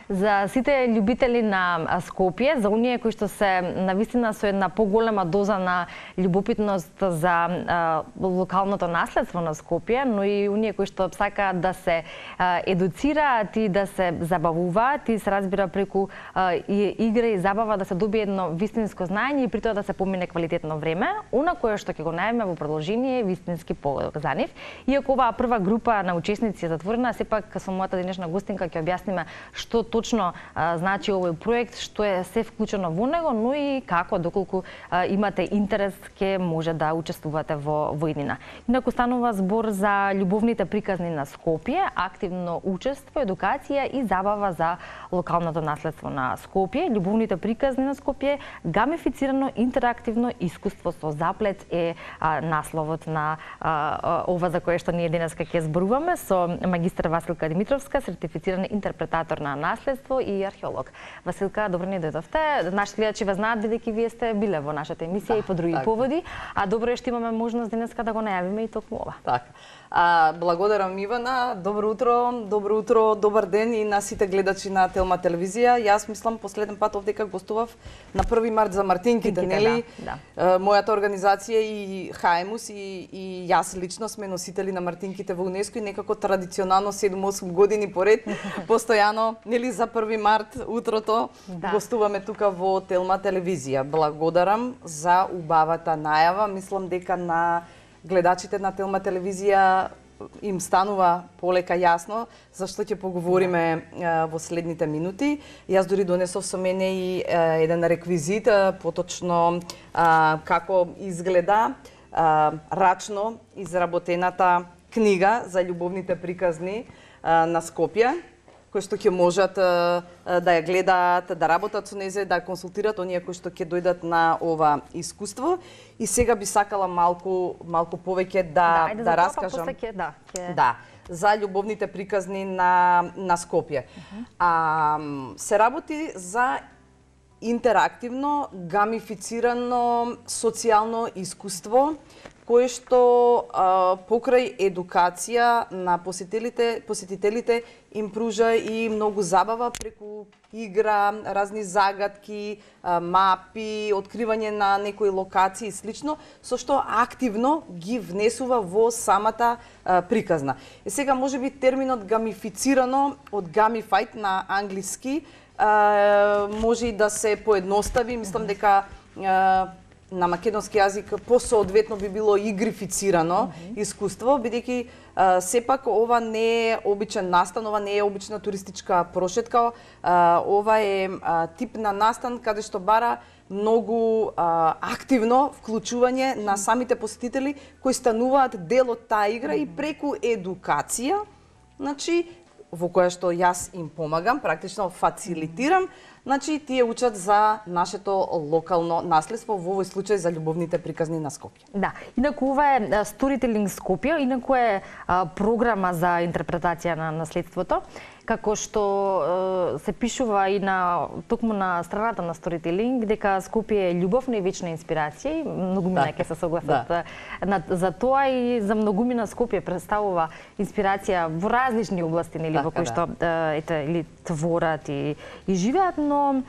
За сите љубители на Скопје, за оние кои што се навистина со една поголема доза на љубопитност за локалното наследство на Скопје, но и оние кои што сакаат да се едуцираат и да се забавуваат и се разбира преку игра и забава да се добие едно вистинско знаење и при тоа да се помине квалитетно време, она кое што ќе го најавиме во продолжение е вистински полог за нив. Иако оваа прва група на учесници е затворена, сепак со мојата денешна гостинка ќе објасниме што точно значи овој проект, што е се вклучено во него, но и како, доколку имате интерес, ќе може да учествувате во иднина. Инаку станува збор за љубовните приказни на Скопје, активно учество, едукација и забава за локалното наследство на Скопје. Љубовните приказни на Скопје, гамифицирано интерактивно искуство со заплет е насловот на ова за кое што ние денеска ќе зборуваме со магистар Василка Димитровска, сертифициран интерпретатор на наследство и археолог. Василка, добро ни дојдовте. Нашите гледачи ве знаат бидејќи вие сте биле во нашата емисија и по други поводи, а добро е што имаме можност денеска да го најавиме и токму ова. Така. Благодарам Ивана, добро утро, добар ден и на сите гледачи на Телма телевизија. Јас мислам последен пат овдека гостував на 1 март за Мартинките, нели? Да. Мојата организација и Хаемус и јас лично сме носители на Мартинките во УНЕСКО и некако традиционално 7-8 години поред постојано, нели, за 1 март утрото гостуваме тука во Телма телевизија. Благодарам за убавата најава. Мислам дека на гледачите на Телма телевизија им станува полека јасно зашто ќе поговориме во следните минути. Јас дури донесов со мене и еден реквизит, поточно како изгледа рачно изработената книга за љубовните приказни на Скопје, кои што ќе можат да ја гледаат, да работат со незе, да консултират оние кои што ќе дојдат на ова искуство. И сега би сакала малку повеќе да раскажам. Да, за љубовните приказни на Скопје. Се работи за интерактивно, гамифицирано социјално искуство кое што покрај едукација на посетителите им пружа и многу забава преку игра, разни загадки, мапи, откривање на некои локации и слично, со што активно ги внесува во самата приказна. Сега можеби терминот гамифицирано од gamified на англиски може и да се поедностави, мислам дека на македонски јазик посоодветно би било игрифицирано искуство, бидејќи сепак ова не е обичен настан, ова не е обична туристичка прошетка, ова е тип на настан каде што бара многу активно вклучување на самите посетители кои стануваат дел од таа игра и преку едукација, значи во која што јас им помагам, практично фацилитирам, значи тие учат за нашето локално наследство, во овој случај за љубовните приказни на Скопје. Да, инаку ова е Storytelling Скопје, инаку е програма за интерпретација на наследството, како што се пишува и токму на страната на Storytelling, дека Скопје е љубовна и вечна инспирација, и многумина ќе се согласат за тоа и за многумина Скопје представува инспирација во различни области, нели, во кои што или творат и живеат, но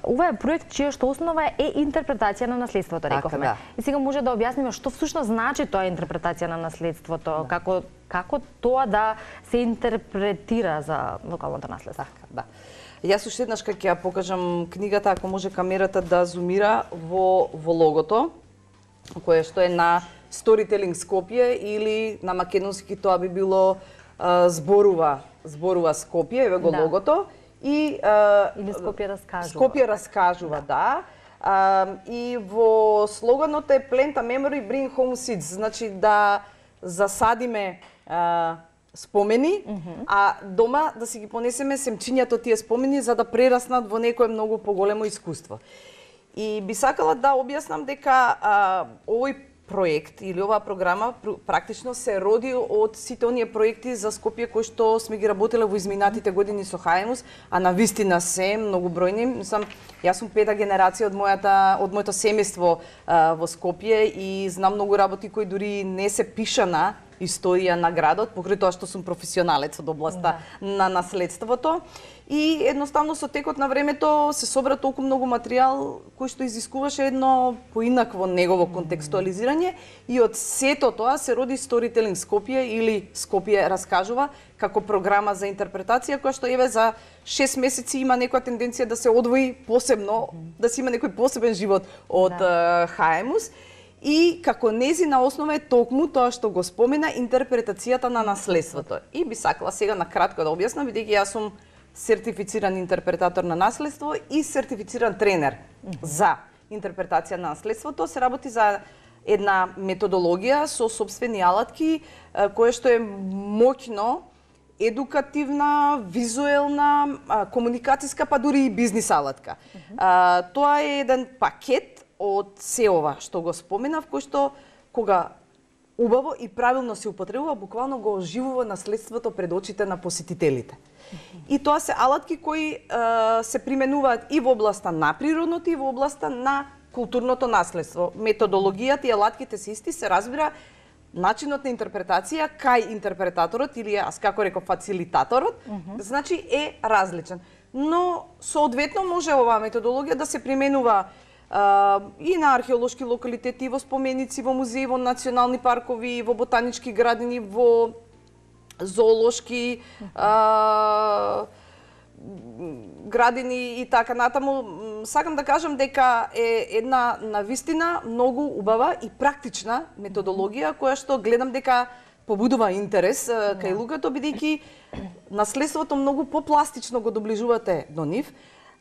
ова е проект чија што основа е интерпретација на наследството, рековме. И сега може да објасниме што всушност значи тоа интерпретација на наследството, како тоа да се интерпретира за локалното наследство. Да. Јас уште еднаш ќе ја покажам книгата, ако може камерата да зумира во логото, кое што е на Storytelling Скопје или на македонски тоа би било зборува Скопје, еве го логото. Или Скопје раскажува. Скопје раскажува, да. И во слоганот е Plant a Memory, Bring Home Seeds, значи да засадиме спомени, а дома да си ги понесеме семчињата од тие спомени за да прераснат во некое многу поголемо искуство. И би сакала да објаснам дека овој проект или оваа програма практично се роди од сите оние проекти за Скопје кои што сме ги работеле во изминатите години со Хаемус, а на вистина се многу бројни. Мислам, јас сум пета генерација од моето семејство во Скопје и знам многу работи кои дури не се пишана историја на градот, покрај тоа што сум професионалец од областа на наследството. И едноставно со текот на времето се собра толку многу материјал кој што изискуваше едно поинакво негово контекстуализирање и од сето тоа се роди Storytelling Скопје или Скопје раскажува како програма за интерпретација која што еве за 6 месеци има некоја тенденција да се одвои посебно, да се има некој посебен живот од Хаемус. И како незина основа е токму тоа што го спомена интерпретацијата на наследството. И би сакала сега на кратко да објаснам, бидејќи јас сум сертифициран интерпретатор на наследство и сертифициран тренер за интерпретација на наследството. Се работи за една методологија со собствени алатки, која што е моќно едукативна, визуелна, комуникацијска, па дури и бизнис алатка. Тоа е еден пакет од се ова што го споменав, кој што кога убаво и правилно се употребува, буквално го оживува наследството пред очите на посетителите. И тоа се алатки кои се применуваат и во областа на природното и во областа на културното наследство. Методологијата и алатките се исти, се разбира начинот на интерпретација кај интерпретаторот или јас како реков фацилитаторот, значи е различен. Но соодветно може оваа методологија да се применува и на археолошки локалитети, во споменици, во музеи, во национални паркови, во ботанички градини, во зоолошки градини и така натаму. Сакам да кажам дека е една навистина многу убава и практична методологија која што гледам дека побудува интерес кај луѓето, бидејќи наследството многу попластично го доближувате до нив.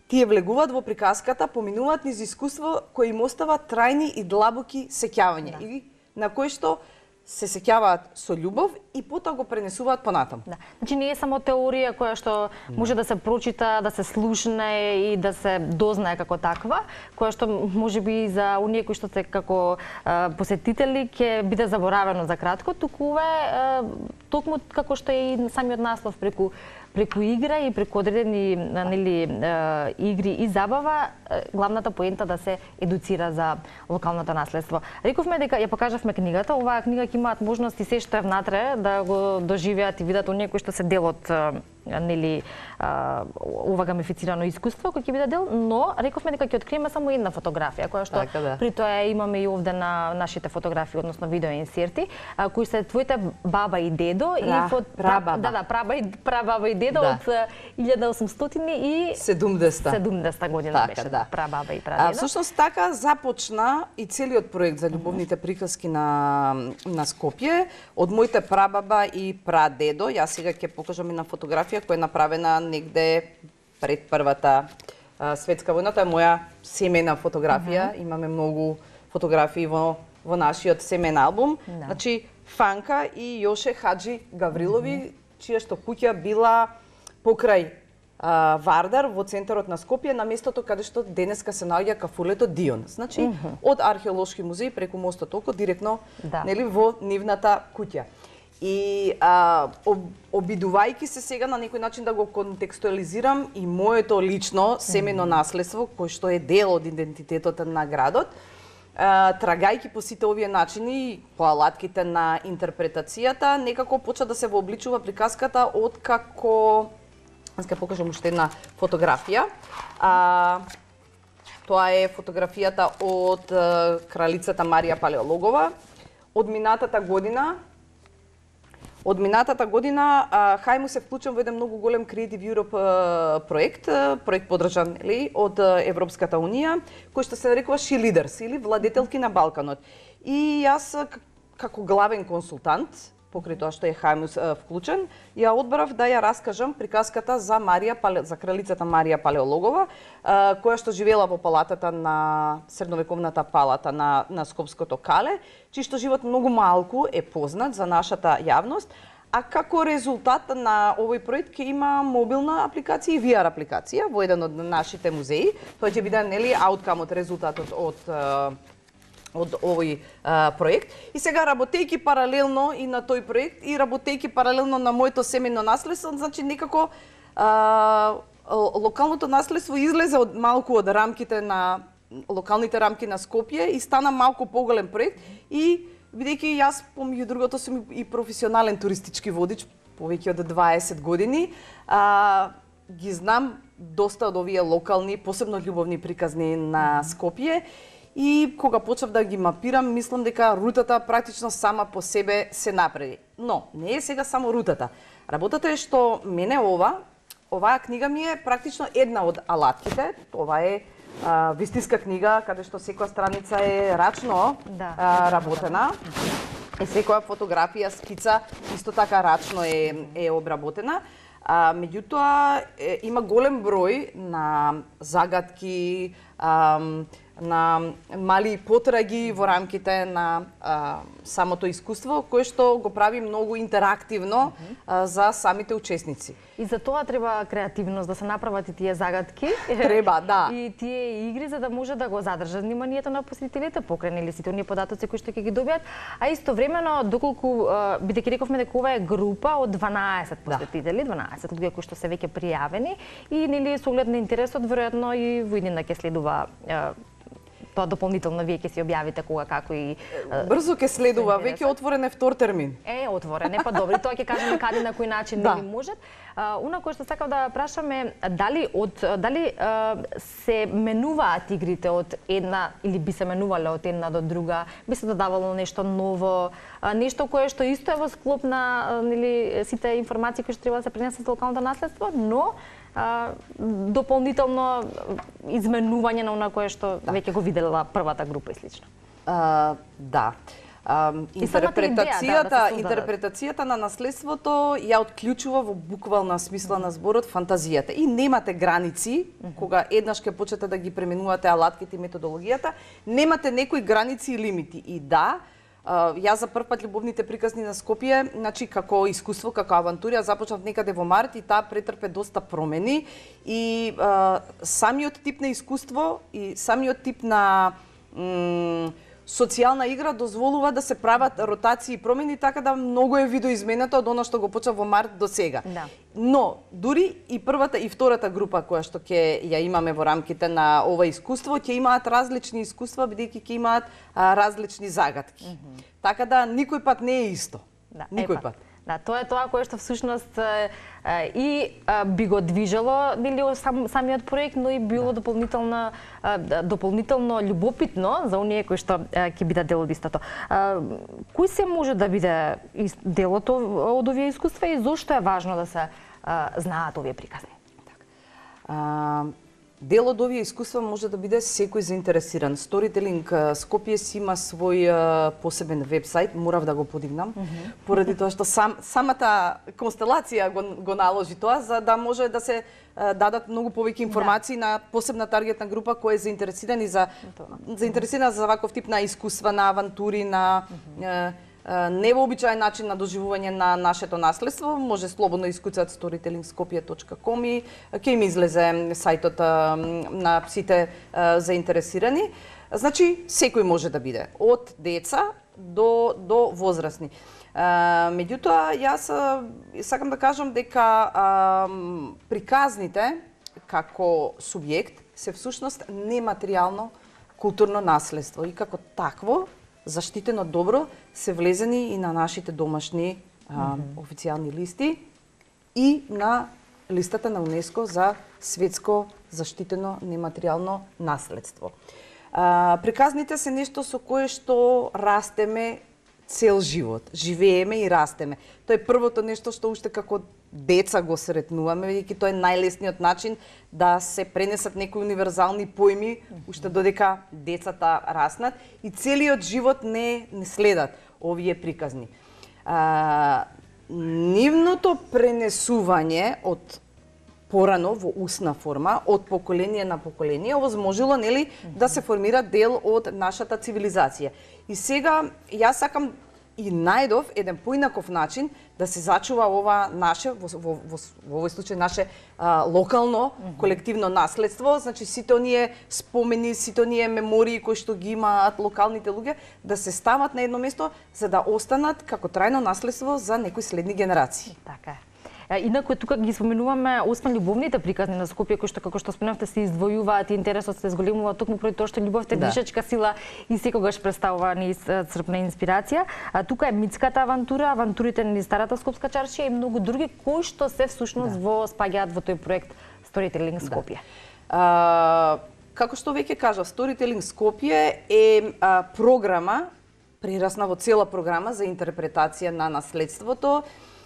Тие влегуваат во приказката, поминуваат низ искуство кои им остава трајни и длабоки сеќавања и на кои што се сеќаваат со љубов и потоа го пренесуваат понатаму. Значи не е само теорија која што може да се прочита, да се слушне и да се дознае како таква, која што можеби за оние кои што се како посетители ќе биде заборавено за кратко, туку токму како што е и самиот наслов преку игра и преку одредени игри и забава, главната поента да се едуцира за локалното наследство. Рековме дека ја покажавме книгата, оваа книга ќе имаат можност и се што е внатре да го доживеат и видат оние кои што се дел од ова гамифицирано искуство кој ќе биде дел, но рековме дека ќе откриеме само една фотографија, која што при тоа имаме и овде на нашите фотографии, односно видео инсерти, кои се твоите баба и дедо и прабаба и дедо од 1870 година беше прабаба и прадедо. Всушност така започна и целиот проект за љубовните приказки на Скопје од моите прабаба и прадедо. Јас сега ќе покажам една фотографија која е направена негде пред Првата светска војна. Тоа е моја семејна фотографија. Имаме многу фотографии во нашиот семејен албум. Значи Фанка и Јоше Хаджи Гаврилови, чија што куќа била покрај Вардар во центарот на Скопје, на местото каде што денеска се наоѓа кафулето Дион. Значи од археолошки музеј преку мостот Око директно во нивната куќа. И обидувајќи се сега на некој начин да го контекстуализирам и моето лично семено наследство, кој што е дел од идентитетот на градот, трагајќи по сите овие начини, по алатките на интерпретацијата, некако почна да се вообличува приказката од како... Аз ќе покажам уште една фотографија. Тоа е фотографијата од кралицата Марија Палеологова. Од минатата година Хаемус се вклучен во еден многу голем Creative Europe проект поддржан од Европската Унија, кој што се нарекува She Leaders или владетелки на Балканот. И јас како главен консултант, покрај тоа што е Хаемус вклучен, ја одбрав да ја раскажам приказката за кралицата Марија Палеологова, која што живеела во палатата на средновековната палата на Скопското Кале, чиј што живот многу малку е познат за нашата јавност, а како резултат на овој проект ќе има мобилна апликација и VR апликација во еден од нашите музеи. Тоа ќе биде ауткамот, резултатот од овој проект. И сега работејќи паралелно и на тој проект и работејќи паралелно на моето семејно наследство, значи некако локалното наследство излезе малку од рамките на локалните рамки на Скопје и стана малку поголем проект и бидејќи јас помеѓу другото сум и професионален туристички водич повеќе од 20 години, ги знам доста од овие локални, посебно љубовни приказни на Скопје. И кога почнав да ги мапирам, мислам дека рутата практично сама по себе се направи. Но не е сега само рутата. Работата е што мене оваа книга ми е практично една од алатките. Ова е вистинска книга каде што секоја страница е рачно работена. И секоја фотографија, скица исто така рачно е обработена. Меѓутоа има голем број на загадки, на мали потраги во рамките на самото искуство, кое што го прави многу интерактивно за самите учесници. И за тоа треба креативност, да се направат и тие загадки. Треба, да. И тие игри за да може да го задржат вниманието на посетителите, покрај нели сите оние податоци кои што ќе ги добијат, а истовремено доколку бидејќи рековме дека ова е група од 12 посетители, 12 луѓе кои што се веќе пријавени и нели со оглед на интересот веројатно и во иднина ќе следува тоа дополнително вие ќе си објавите кога како и брзо ќе следува, веќе отворен е втор термин. Отворен е, па добри, тоа ќе кажеме каде на кој начин нели можат. Уна кој што сакав да прашам е дали се менуваат игрите од една или би се менувале од една до друга, би се додавало нешто ново, нешто кое што исто е во склоп на нели сите информации кои што треба да се пренесат за локалното наследство, но дополнително изменување на она кое што веќе го видела првата група и слично. Да. Интерпретацијата на наследството ја отклучува во буквална смисла на зборот фантазијата. И немате граници, кога еднаш ќе почнете да ги пременувате алатките и методологијата, немате некои граници и лимити. И да, јас за прв пат љубовните приказни на Скопје, значи како искуство, како авантурија, започнав некаде во март и таа претрпе доста промени и самиот тип на искуство и самиот тип на социјална игра дозволува да се прават ротации и промени, така да многу е видоизменето од она што го почна во март до сега. Да. Но дури и првата и втората група која што ќе ја имаме во рамките на ова искуство, ќе имаат различни искуства бидејќи ќе имаат различни загадки. Така да никој пат не е исто. Никој пат. Да, тоа е тоа кое што всушност и би го движело нели самиот проект, но и било дополнително љубопитно за оние кои што ќе бидат дел од истото. Кој се може да биде делот од овие искуства и зошто е важно да се знаат овие приказни? Дел од овие искуства може да биде секој заинтересиран. Storytelling Скопје си има свој посебен вебсайт, морав да го подигнам, поради тоа што самата констелација го наложи тоа, за да може да се дадат многу повеќе информации на посебна таргетна група која е заинтересирана за ваков тип на искуства, на авантури, на невообичаен начин на доживување на нашето наследство. Може слободно искуцат storytellingskopje.com и ќе им излезе сајтот на сите заинтересирани. Значи, секој може да биде, од деца до возрастни. Меѓутоа, јас сакам да кажам дека приказните како субјект се всушност нематеријално културно наследство и како такво заштитено добро се влезени и на нашите домашни официјални листи и на листата на УНЕСКО за светско заштитено нематеријално наследство. Приказните се нешто со кое што растеме цел живот, живееме и растеме. Тоа е првото нешто што уште како деца го сретнуваме, бидејќи тоа е најлесниот начин да се пренесат некои универзални поими, уште додека децата раснат и целиот живот не следат овие приказни. Нивното пренесување од порано во устна форма, од поколение на поколение, овозможило нели да се формира дел од нашата цивилизација. И сега јас сакам и најдов еден поинаков начин да се зачува ова наше, во овој случај наше локално колективно наследство, значи сите оние спомени, сите оние мемории кои што ги имаат локалните луѓе, да се стават на едно место за да останат како трајно наследство за некои следни генерации. Така е. Инаку тука ги споменуваме освен љубовните приказни на Скопје кои што како што споменавте се издвојуваат и интересот се зголемува токму поради тоа што љубовта е движечка сила и секогаш представува неисцрпна инспирација. Тука е Митската авантура, авантурите низ старата скопска чаршија и многу други кои што се всушност спаѓаат во тој проект Storytelling Скопје. Како што веќе кажав, Storytelling Скопје е програма, прерасна во цела програма за интерпретација на наследството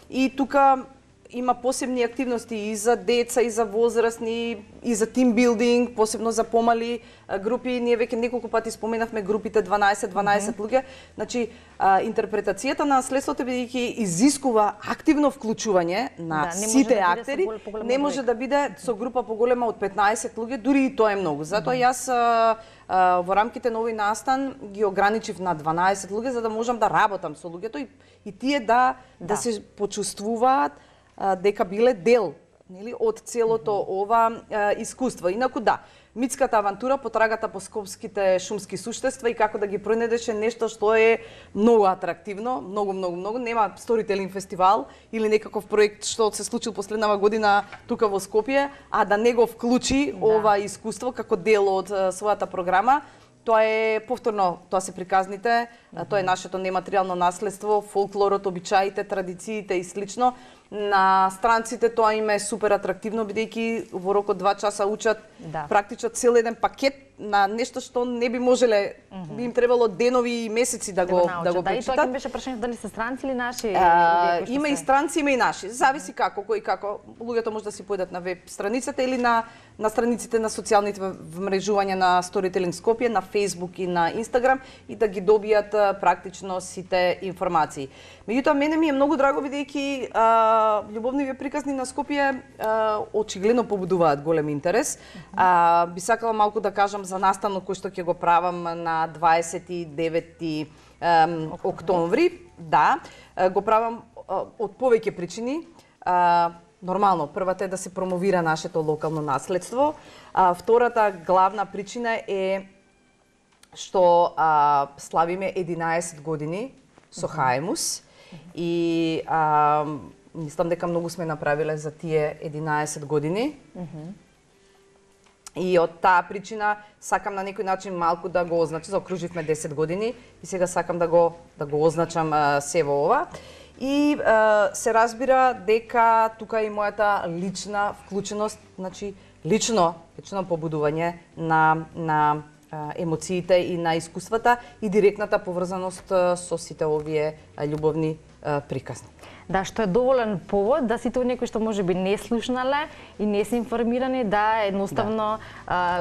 и тука има посебни активности и за деца, и за возрастни, и за тимбилдинг, посебно за помали групи. Ние веќе неколку пати споменавме групите 12 луѓе. Значи, интерпретацијата на наследството бидејќи изискува активно вклучување на сите актери, не може да биде со група поголема од 15 луѓе, дури и тоа е многу. Затоа јас во рамките на овој настан ги ограничив на 12 луѓе за да можам да работам со луѓето и тие да се почувствуваат дека биле дел, нели, од целото ова искуство. Инаку Митската авантура, потрагата по скопските шумски суштества и како да ги пронедеше нешто што е многу атрактивно, многу. Нема сторителинг фестивал или некаков проект што се случил последнава година тука во Скопје, а да не го вклучи ова искуство како дел од својата програма. Тоа е повторно, тоа се приказните, тоа е нашето нематеријално наследство, фолклорот, обичаите, традициите и слично. На странците тоа им е супер атрактивно, бидејќи во рок од 2 часа учат практично цел еден пакет на нешто што не би можеле, би им требало денови и месеци да го прочитат. И тоа ќе беше прашање дали се странци или наши? Има и странци, има и наши. Зависи како, кој како. Луѓето може да си појдат на веб страницата или на страниците на социјалните вмрежувања на Storytelling Скопје, на Facebook и на Instagram и да ги добијат практично сите информации. Меѓутоа, мене ми е многу драго бидејќи љубовните приказни на Скопје очигледно побудуваат голем интерес. Би сакала малку да кажам за настанот кој што ќе го правам на 29 октомври. Го правам од повеќе причини. Нормално, првата е да се промовира нашето локално наследство. Втората главна причина е што славиме 11 години со Хаемус и мислам дека многу сме направиле за тие 11 години. И од таа причина сакам на некој начин малку да го означам, заокруживме 10 години и сега сакам да го означам се во ова. И се разбира дека тука и мојата лична вклученост, значи лично побудување на емоциите и на искуствата и директната поврзаност со сите овие љубовни приказни. Да, што е доволен повод да сите оние кои што можеби не слушнале и не се информирани да едноставно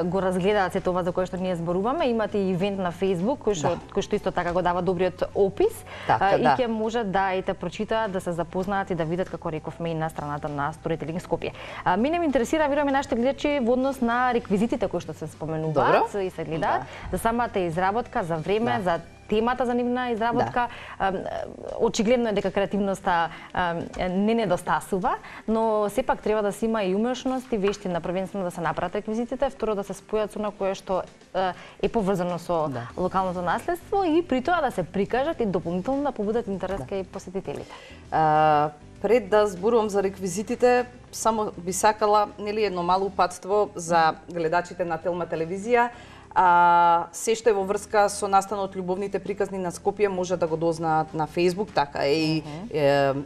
го разгледаат сето ова за кое што ние зборуваме. Имате и ивент на Facebook кој што исто така го дава добриот опис и ќе можат да и те прочитаат, да се запознаат и да видат, како рековме, и на страната на Storytelling Скопје. Мене ме интересира, веруваме нашите гледачи, во однос на реквизитите кои што се споменуваат и се гледаат, за самата изработка, за време, за темата за нивна изработка. Очигледно е дека креативноста не недостасува, но сепак треба да се има и умешност и вештина, првенствено да се направат реквизитите, второ да се спојат со она кое што е поврзано со локалното наследство и при тоа да се прикажат и дополнително да побудат интерес кај посетителите. Пред да зборувам за реквизитите, само би сакала едно мало упатство за гледачите на Телма телевизија. Се што е во врска со настанот љубовните приказни на Скопје може да го дознаат на Facebook, така и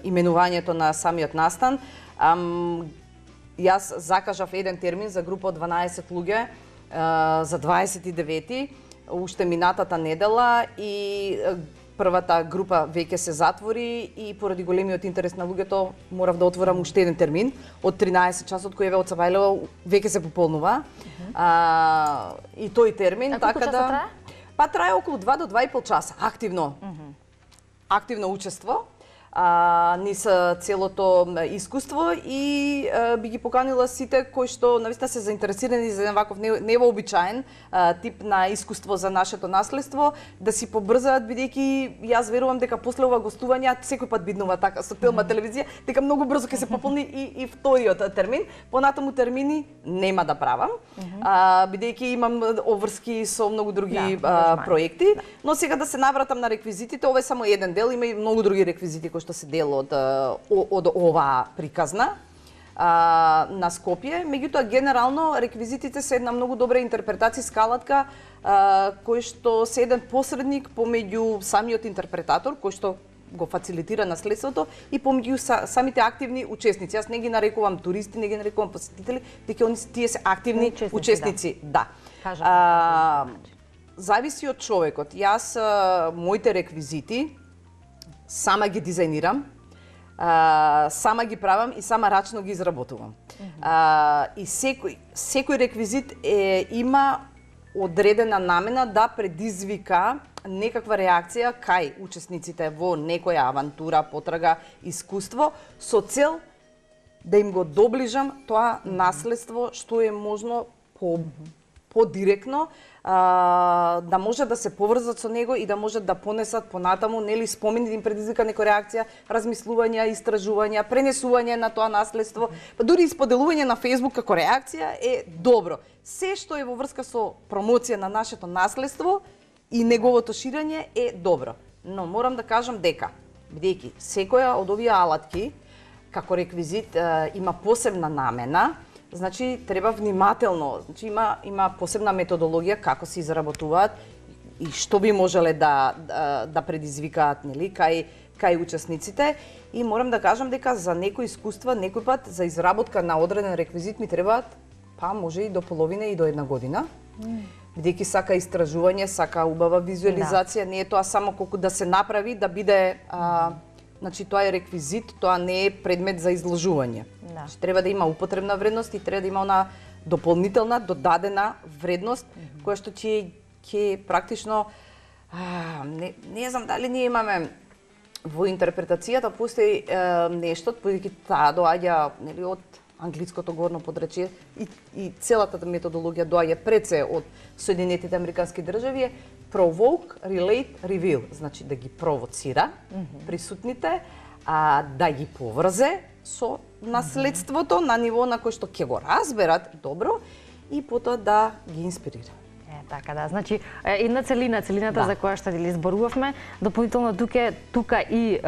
именувањето на самиот настан. Јас закажав еден термин за група од 12 луѓе за 29-ти, уште минатата недела, и првата група веќе се затвори и поради големиот интерес на луѓето морав да отворам уште еден термин од 13 часот кој еве од Сабајлево веќе се пополнува. И тој термин, така да трае? Трае околу 2 до 2,5 часа активно. Активно учество низ целото искуство и би ги поканила сите кои што навистина се заинтересирани за еден ваков невообичаен тип на искуство за нашето наследство, да си побрзаат, бидејќи јас верувам дека после ова гостување секој пат биднува така со Телма телевизија, дека многу брзо ќе се пополни и вториот термин. Понатаму термини нема да правам, бидејќи имам обврски со многу други проекти, но сега да се навратам на реквизитите, ова е само еден дел, има и многу други реквизити кои пошто се дел од оваа приказна на Скопје. Меѓутоа, генерално, реквизитите се една многу добра интерпретацијска алатка, кој што се еден посредник помеѓу самиот интерпретатор, кој што го фацилитира наследството, и помеѓу самите активни учесници. Јас не ги нарекувам туристи, не ги нарекувам посетители, дека тие се активни учесници. Да. Зависи од човекот. Јас моите реквизити сама ги дизајнирам, сама ги правам и сама рачно ги изработувам. И секој реквизит има одредена намена да предизвика некаква реакција кај учесниците во некоја авантура, потрага, искуство, со цел да им го доближам тоа наследство што е можно подиректно, да може да се поврзат со него и да можат да понесат понатаму, нели, спомени, да им предизвика некоја реакција, размислувања, истражувања, пренесување на тоа наследство, па дури исподелување на Facebook како реакција е добро. Се што е во врска со промоција на нашето наследство и неговото ширење е добро. Но морам да кажам дека, бидејќи секоја од овие алатки како реквизит има посебна намена, значи треба внимателно, значи има посебна методологија како се изработуваат и што би можеле да предизвикаат, нели, кај учесниците. И морам да кажам дека за некои искуства, некој пат за изработка на одреден реквизит ми требаат па може и до половина и до една година. Бидејќи сака истражување, сака убава визуализација, не е тоа само колку да се направи, да биде значи тоа е реквизит, тоа не е предмет за изложување. Значи треба да има употребна вредност и треба да има она дополнителна, додадена вредност која што ќе практично не знам дали ние имаме во интерпретацијата постои нешто, бидејќи таа доаѓа, нели, од англиското горно подречие и целата методологија доаѓа пред се од Соединетите Американски држави, provoke, relate, reveal, значи да ги провоцира присутните, да ги поврзе со наследството на ниво на кој што ќе го разберат добро и потоа да ги инспирира. Така да, значи една целината за која што ли зборувавме, дополнително тука и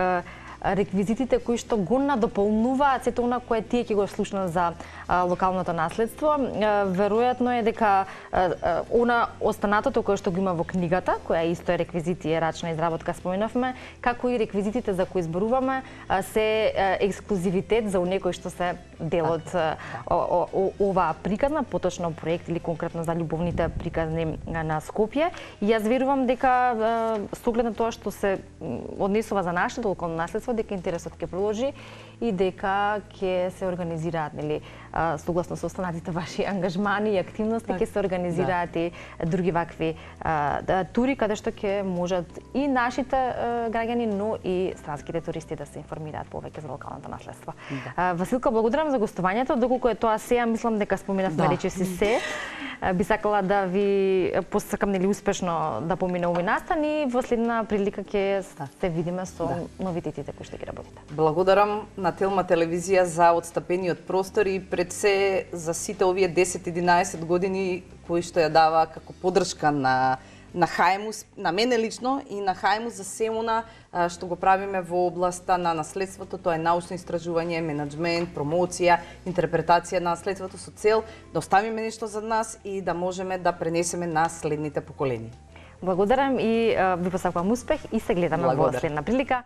реквизитите кои што го надополнуваат сето она кое тие ќе го слушнат за локалното наследство. Веројатно е дека она останатото кое што го има во книгата, која исто е реквизит и е рачна изработка, споменавме, како и реквизитите за кои зборуваме се ексклузивитет за оние кои што се дел од оваа приказна, поточно проект или конкретно за љубовните приказни на Скопје. И јас верувам дека со оглед на тоа што се однесува за нашето локално наследство, дека интересот ќе продолжи и дека ќе се организираат, нели, согласно со останатите ваши ангажмани и активности, ќе се организираат и други вакви тури каде што ќе можат и нашите граѓани, но и странските туристи да се информираат повеќе за локалното наследство. Василка, благодарам за гостувањето. Доколку е тоа се, мислам дека споменавме речиси се. Би сакала да ви посакам, нели, успешно да помине овој настан и во следна прилика ќе се видиме со новитетите кои што ги работите. Благодарам на Телма телевизија за отстапениот простор и пред се за сите овие 10-11 години кои што ја дава како поддршка на Хаемус, на мене лично и на Хаемус за се она што го правиме во областа на наследството. Тоа е научно истражување, менаџмент, промоција, интерпретација на наследството со цел да оставиме нешто за нас и да можеме да пренесеме на следните поколенија. Благодарам и ви посакувам успех и се гледаме во следна прилика.